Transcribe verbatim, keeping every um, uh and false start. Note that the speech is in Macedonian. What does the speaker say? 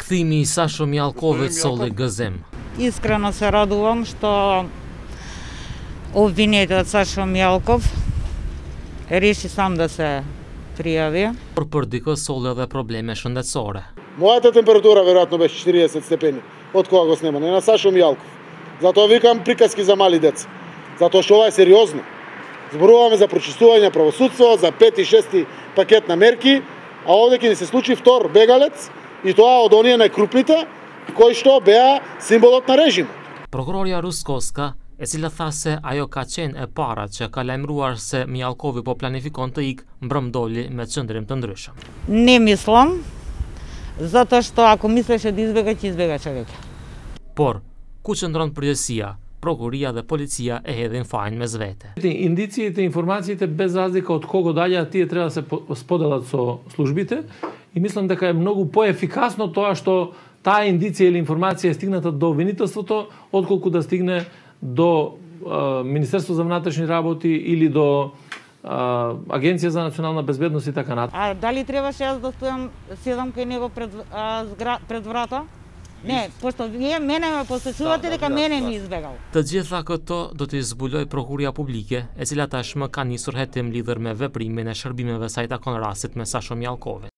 Кthimi i Sasho Mjallkovit solli gëzim. Искрено се радувам што обвинетот Сашо Мјалков реши сам да се пријави. Por për dikë solli edhe probleme shëndetësore. Мојата температура веројатно беше четириесет степени од кога го снема, не на Сашо Мјалков. Затоа викам приказки за мали деца. Затоа што ова е сериозно. Зборуваме за прочистување правосудство, за пети, шести пакет на мерки, а овде ќе ни се случи втор бегалец и тоа од оние најкрупните кои што беа символот на режимот. Prokuroria Ruskovska, e cila tha se ajo ka qenë e para që ka lajmëruar se Mjallkovi po planifikon të ikë, mbrëmdolli me qëndrim të ndryshëm. Не мислам, затоа што ако мислеше да избега, ќе избегаше веќе. Por, ku qëndron përgjësia, prokuria dhe policia e hedhin fajin mes vete. Индициите, информациите без разлика од кого даѓа, тие треба да се споделат со службите и мислам дека е многу поефикасно тоа што таа индиција или информација е стигната до обвинителството, отколку да стигне до а, Министерство за внатрешни работи или до а, Агенција за национална безбедност и така натаму. А дали требаше јас да стојам седам кај него пред, а, згра, пред врата? Не, пошто вие мене ме посечувате дека мене ми избегал. Të gjitha këto do t'i zbuloj Prokuria Publike, e cila tashmë ka nisur hetim lidhur me veprimin e shërbimeve sa i takon rastit me Sasho Mjallkovit.